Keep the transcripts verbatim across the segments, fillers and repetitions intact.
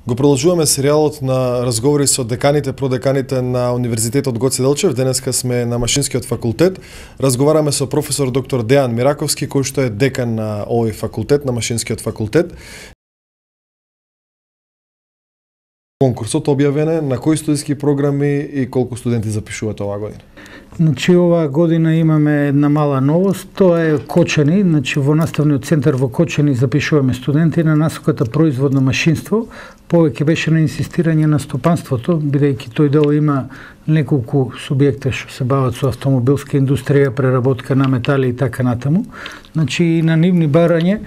Го продолжуваме серијалот на разговори со деканите, продеканите на Универзитетот Гоце Делчев. Денеска сме на Машинскиот факултет. Разговараме со професор доктор Дејан Мираковски, кој што е декан на овој факултет, на Машинскиот факултет. Конкурсот објавен е, на кои студиски програми и колку студенти запишуваат оваа година? Значи, оваа година имаме една мала новост, тоа е Кочани. Значи, во наставниот центар во Кочани запишуваме студенти на насоката производно машинство. Повеќе беше на инсистирање на стопанството, бидејќи тој дел има неколку субјекта што се бават со автомобилска индустрија, преработка на метали и така натаму. Значи, и на нивни барање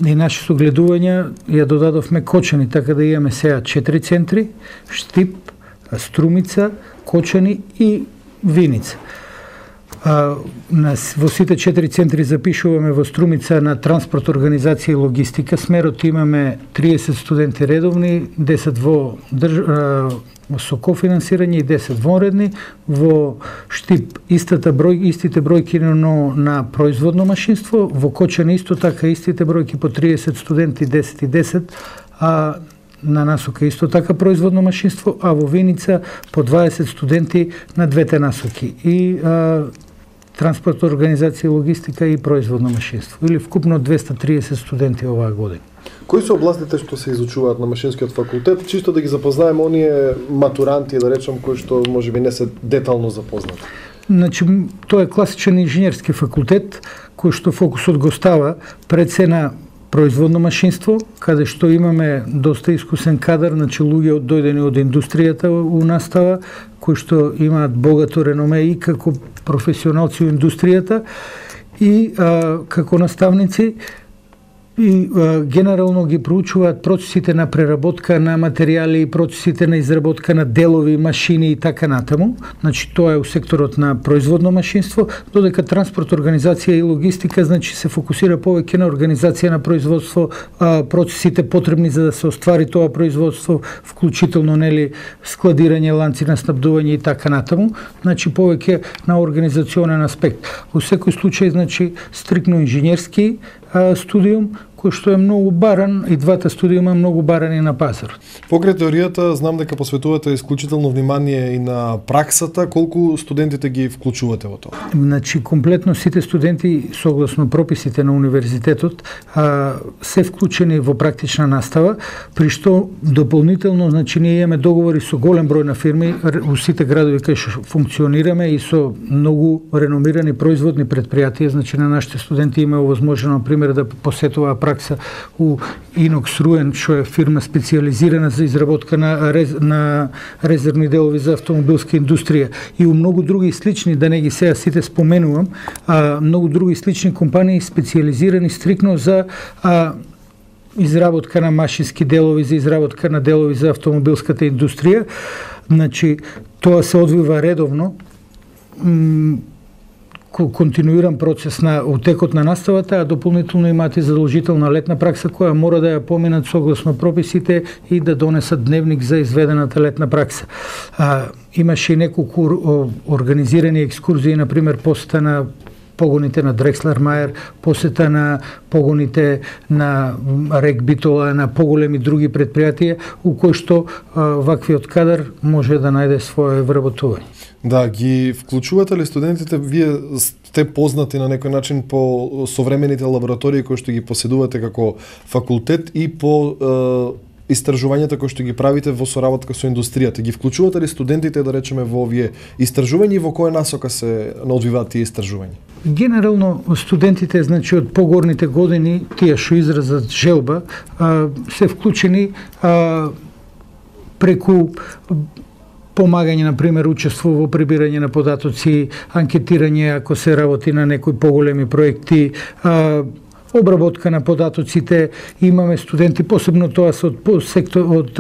и наши согледувања ја додадовме Кочани, така да имаме сега четири центри: Штип, Струмица, Кочани и Виница. А, на, во сите четири центри запишуваме во Струмица на транспорт, организација и логистика. Смерот имаме триесет студенти редовни, десет во држ... а, со кофинансирање и десет вонредни. Во Штип истата број, истите бројки, но на производно машинство. Во Кочани исто така истите бројки по триесет студенти, десет и десет, а на насока исто така производно машинство, а во Виница по дваесет студенти на двете насоки. И а, транспорт, организација и логистика и производно машинство. Или вкупно двесте триесет студенти оваа година. Кои се областите што се изучуваат на Машинскиот факултет? Чисто да ги запознаеме оние матуранти, да речем, кои што можеби не се детално запознати. Значи, тоа е класичен инженерски факултет, кој што фокусот го става пред се на производно машинство, каде што имаме доста искусен кадар, значи луѓе дојдени од индустријата у настава, кои што имаат богато реноме и како професионалци у индустријата и а, како наставници, и а, генерално ги проучуваат процесите на преработка на материјали, процесите на изработка на делови, машини и така натаму. Значи, тоа е у секторот на производно машинство, додека транспорт, организација и логистика, значи, се фокусира повеќе на организација на производство, а, процесите потребни за да се оствари тоа производство, вклучително, нели, складирање, ланци на снабдување и така натаму. Значи, повеќе на организационен аспект. Во секој случај, значи, стрикно инженерски студиум, кој што е многу баран, и двата студиума многу барани на пазарот. Покрај теоријата, знам дека посветувате исклучително внимание и на праксата. Колку студентите ги вклучувате во тоа? Значи, комплетно сите студенти, согласно прописите на универзитетот, а, се вклучени во практична настава, при што дополнително, значи, ние имаме договори со голем број на фирми у сите градови кај што функционираме и со многу реномирани производни предпријатија. Значи, на нашите студенти има овозможено, например, да посетува пракса у Инокс Руен, што е фирма специализирана за изработка на, рез, на резервни делови за автомобилска индустрија, и у многу други слични, да не ги сега сите споменувам, а, многу други слични компании специализирани стрикно за а, изработка на машински делови, за изработка на делови за автомобилската индустрија. Значи, тоа се одвива редовно, континуиран процес на утекот на наставата, а дополнително имаат и задолжителна летна пракса која мора да ја поминат согласно прописите и да донесат дневник за изведената летна пракса. А, имаше и неколку организирани екскурзии, например посета на погоните на Дрекслер Мајер, посета на погоните на Рек Битола, на поголеми други предпријатија, у кои што а, ваквиот кадар може да најде своје вработување. Да, ги вклучувате ли студентите? Вие сте познати на некој начин по современите лаборатории кои што ги поседувате како факултет и по е, истражувањата кои што ги правите во соработка со индустријата. Ги вклучувате ли студентите, да речеме, во овие истражувања и во која насока се одвиваат тие истражувања? Генерално студентите, значи, од погорните години, тие што изразат желба, а, се вклучени а, преку помагање, например, учество во прибирање на податоци, анкетирање ако се работи на некои поголеми проекти, а, обработка на податоците. Имаме студенти, посебно тоа се од сектор, од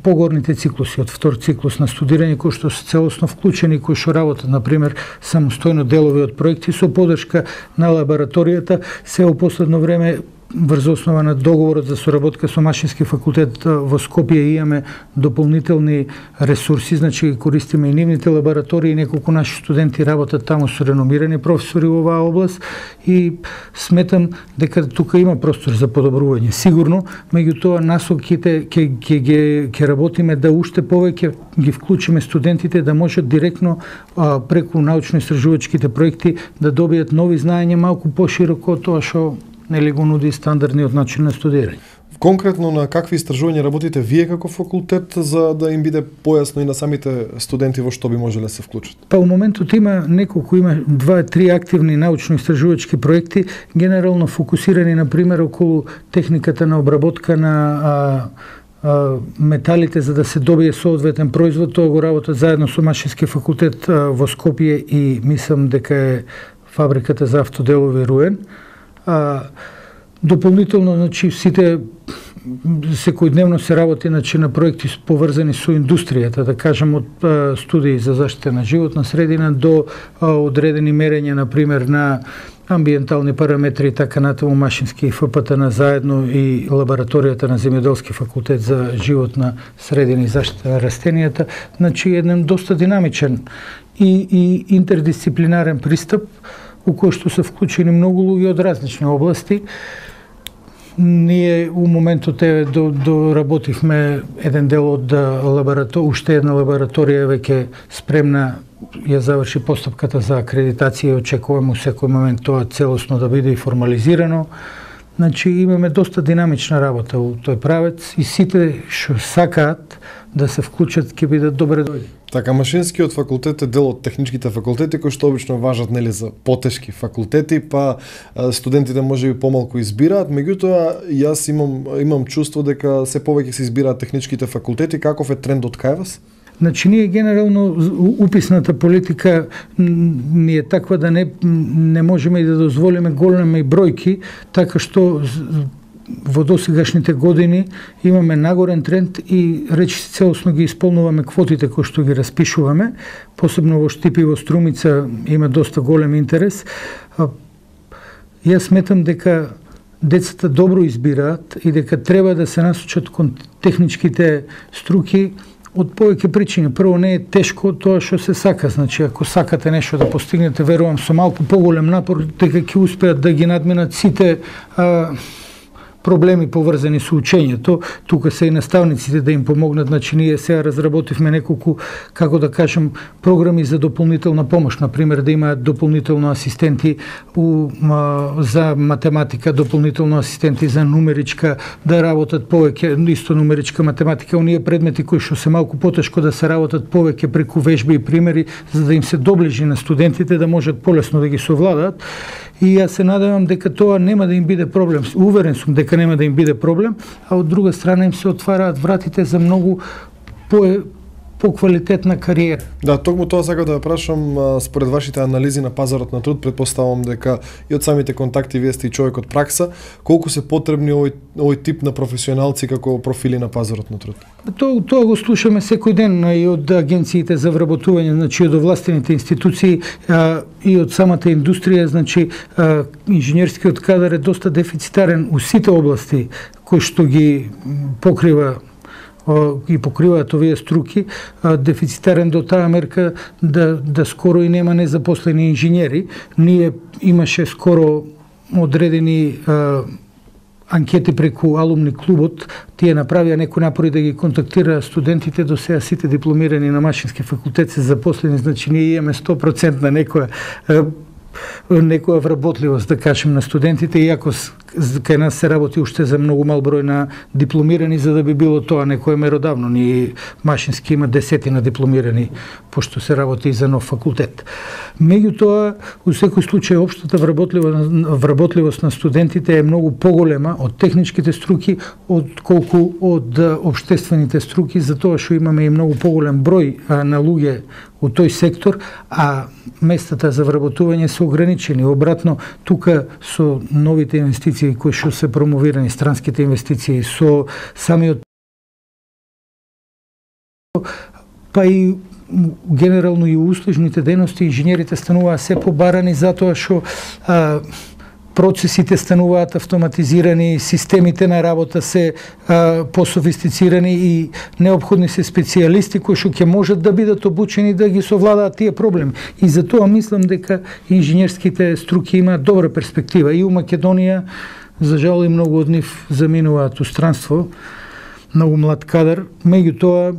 погорните циклуси, од втор циклус на студирање, кои што се целосно вклучени, кои што работат, например, самостојно делови од проекти со поддршка на лабораторијата. Се во последно време врз основа на договорот за соработка со Машински факултет во Скопје имаме дополнителни ресурси, значи користиме и нивните лаборатории, неколку наши студенти работат таму со реномирани професори во оваа област и сметам дека тука има простор за подобрување. Сигурно, меѓутоа насоките ќе ќе ќе ќе работиме да уште повеќе ги вклучиме студентите да можат директно а, преку научно-истражувачките проекти да добијат нови знаења малку пошироко од тоа што нели го нуди стандардниот начин на студирање. Конкретно на какви истражувања работите вие како факултет за да им биде појасно и на самите студенти во што би можеле да се вклучат? Па во моментот има неколку, има два-три активни научно-истражувачки проекти, генерално фокусирани на пример околу техниката на обработка на а, а, металите за да се добие соодветен производ. Тоа го работат заедно со Машински факултет а, во Скопје и мислам дека е фабриката за автоделови Руен. А, дополнително, значи, сите секојдневно се работи, значи, на проекти поврзани со индустријата, да кажем од а, студии за заштита на животна средина до а, одредени мерења, на пример, на амбиентални параметри и така натаму. Машински и Ф П Т Н заедно и лабораторијата на Земјоделски факултет за животна средина и заштита на растенијата. Значи, еден доста динамичен и, и интердисциплинарен пристап у кој што се вклучени многу луѓе од различни области. Ние у моментот е до, до работивме еден дел од лабораторија, уште една лабораторија веќе спремна ја заврши постапката за акредитација и очекуваме у секој момент тоа целосно да биде и формализирано. Значи имаме доста динамична работа у тој правец и сите што сакаат да се вклучат ќе бидат добре дојде. Така, Машинскиот факултет е дел од техничките факултети кои што обично важат нели за потешки факултети, па студентите можеби помалку избираат, меѓутоа јас имам имам чувство дека се повеќе се избираат техничките факултети. Каков е трендот кај вас? Значи, ние генерално уписната политика ни е таква да не, не можеме и да дозволиме големи бројки, така што во досегашните години имаме нагорен тренд и речиси целосно ги исполнуваме квотите кои што ги распишуваме, посебно во Штип и во Струмица има доста голем интерес. Јас сметам дека децата добро избираат и дека треба да се насочат кон техничките струки од повеќе причини. Прво, не е тешко тоа што се сака. Значи, ако сакате нешто да постигнете, верувам со малку поголем напор дека ќе успеат да ги надминат сите а, проблеми поврзани со учењето. Тука се и наставниците да им помогнат. Значи, ние сега разработивме неколку, како да кажем, програми за дополнителна помош. Например, да имаат дополнително асистенти у, а, за математика, дополнително асистенти за нумеричка, да работат повеќе, исто нумеричка математика. Оние предмети кои што се малку потешко да се работат повеќе преку вежби и примери, за да им се доближи на студентите, да можат полесно да ги совладаат. И јас се надевам дека тоа нема да им биде проблем. Уверен сум дека нема да им биде проблем, а од друга страна им се отвараат вратите за многу по поквалитетна кариера. Да, токму тоа сакам да ја прашам, според вашите анализи на пазарот на труд, претпоставам дека и од самите контакти вие сте и човек од пракса, колку се потребни овој овој тип на професионалци како профили на пазарот на труд? Тоа, тоа го слушаме секој ден и од агенциите за вработување, значи од овластените институции а, и од самата индустрија, значи а, инженерскиот кадар е доста дефицитарен у сите области кои што ги покрива и покриваат овие струки, дефицитарен до таа мерка да, да скоро и нема незапослени инженери. Ние имаше скоро одредени а, анкети преку алумни клубот, тие направија некои напори да ги контактира студентите, до сега сите дипломирани на Машински факултет се запослени, значи ние имаме сто проценти на некоја некоја вработливост, да кажем, на студентите, иако кај нас се работи уште за многу мал број на дипломирани, за да би било тоа некое меродавно. Ние Машински има десетина дипломирани, пошто се работи и за нов факултет. Меѓутоа, у секој случај, општата вработливост на студентите е многу поголема од техничките струки, од колку од општествените струки, затоа што имаме и многу поголем број на луѓе у тој сектор, а местата за вработување се ограничени. Обратно, тука со новите инвестиции кои што се промовирани, странските инвестиции, со самиот па и генерално и услужните дејности, инженерите стануваа се побарани затоа што а, процесите стануваат автоматизирани, системите на работа се а, пософистицирани и необходни се специјалисти кои што ќе можат да бидат обучени да ги совладаат тие проблеми. И затоа мислам дека инженерските струки имаат добра перспектива. И у Македонија, за жал, и многу од нив заминуваат у странство, многу млад кадар, меѓутоа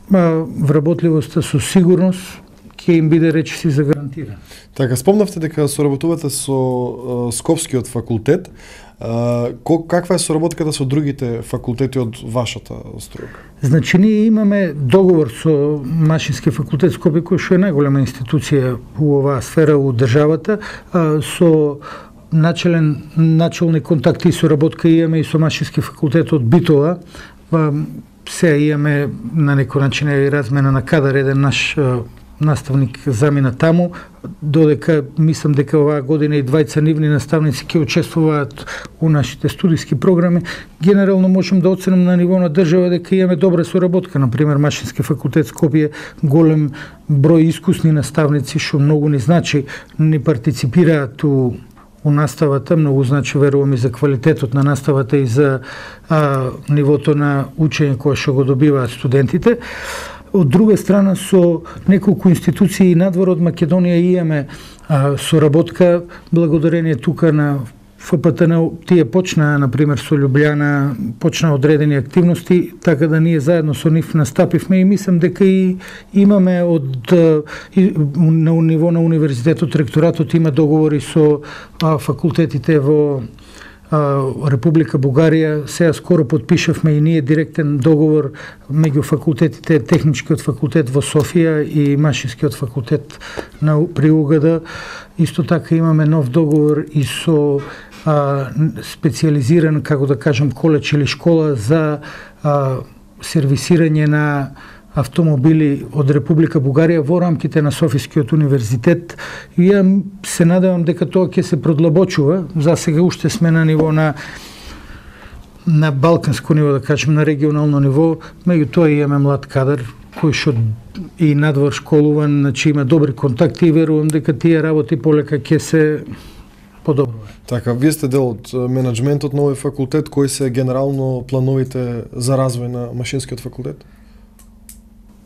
вработливоста со сигурност ќе им биде речиси загарантирана. Така, спомнавте дека соработувате со uh, Скопскиот факултет. Uh, каква е соработката со другите факултети од вашата струка? Значи, ние имаме договор со Машински факултет Скопје, кој што е најголема институција у оваа сфера у државата, uh, со начален начални контакти и соработка имаме и со Машински факултет од Битола. Uh, Се имаме на некој начин и размена на кадар, еден наш uh, наставник замина таму, додека мислам дека оваа година и двајца нивни наставници ќе учествуваат у нашите студиски програми. Генерално можем да оценим на ниво на држава дека имаме добра соработка. Например, Машински факултет Скопје, голем број искусни наставници, што многу ни значи, ни партиципираат у у наставата, многу значи, верувам, и за квалитетот на наставата и за а, нивото на учење кое што го добиваат студентите. Од друга страна, со неколку институции надвор од Македонија имаме а, соработка, благодарение тука на Ф П Т Н. Тие почнаа, например, со Љубљана, почнаа одредени активности, така да ние заедно со нив настапивме и мислам дека и имаме од и, на ниво на универзитетот, ректоратот има договори со а, факултетите во а, Република Бугарија. Сега скоро подпишавме и ние директен договор меѓу факултетите, Техничкиот факултет во Софија и Машинскиот факултет на при У Г Д. Исто така имаме нов договор и со а, специализиран, како да кажем, коледж или школа за а, сервисирање на автомобили од Република Бугарија во рамките на Софискиот универзитет. И ја се надевам дека тоа ќе се продлабочува. За сега уште сме на ниво на на балканско ниво, да кажем, на регионално ниво, меѓутоа имаме млад кадар кој што и надвор школуван, значи има добри контакти и верувам дека тие работи полека ќе се подобруваат. Така, вие сте дел од менаџментот на овој факултет, кои се генерално плановите за развој на Машинскиот факултет?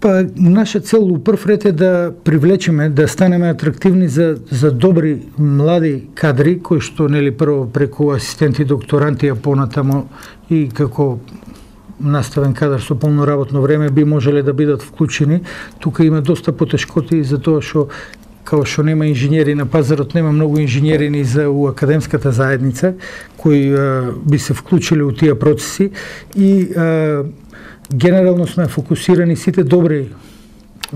Па, наша цел у прв ред е да привлечеме, да станеме атрактивни за, за добри млади кадри, кои што, нели, прво преку асистенти, докторанти, а понатамо и како наставен кадар со полно работно време би можеле да бидат вклучени. Тука има доста потешкоти за тоа што као што нема инженери на пазарот, нема многу инженери ни за у академската заедница кои а, би се вклучили у тие процеси и а, генерално сме фокусирани сите добри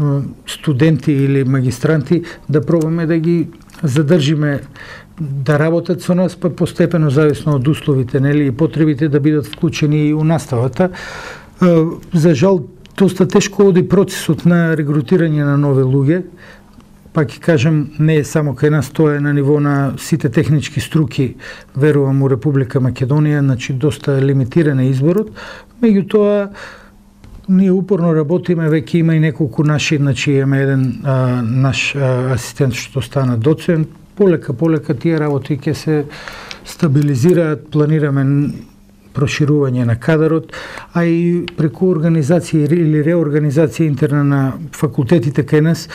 а, студенти или магистранти да пробаме да ги задржиме да работат со нас, па постепено зависно од условите, нели, и потребите да бидат вклучени и у наставата. А, за жал, доста тешко оди процесот на регрутирање на нови луѓе. Пак ќе кажем, не е само кај нас, тоа е на ниво на сите технички струки, верувам, у Република Македонија, значи доста лимитиран е изборот. Меѓутоа, ние упорно работиме, веќе има и неколку наши, значи имаме еден а, наш а, асистент што стана доцент. Полека, полека тие работи ќе се стабилизираат, планираме проширување на кадарот, а и преку организација или реорганизација интерна на факултетите кај нас,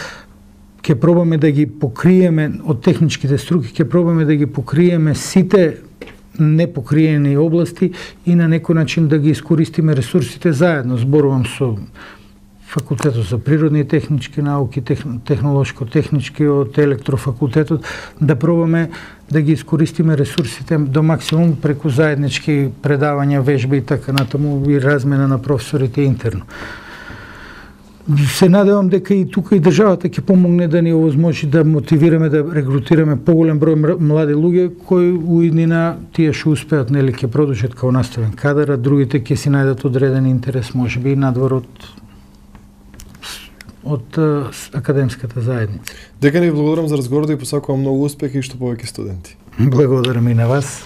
ќе пробаме да ги покриеме од техничките струки, ќе пробаме да ги покриеме сите непокриени области и на некој начин да ги искористиме ресурсите заедно. Зборувам со Факултетот за природни и технички науки, технолошко-технички од електрофакултетот, да пробаме да ги искористиме ресурсите до максимум преку заеднички предавања, вежби и така натаму и размена на професорите интерно. Се надевам дека и тука и државата ќе помогне да ни овозможи да мотивираме, да регрутираме поголем број млади луѓе кои у иднина тие што успеат, нели, ќе продолжат као наставен кадар, а другите ќе си најдат одреден интерес, можеби и надвор од од академската заедница. Дека ни благодарам за разговорот и посакувам многу успех и што повеќе студенти. Благодарам и на вас.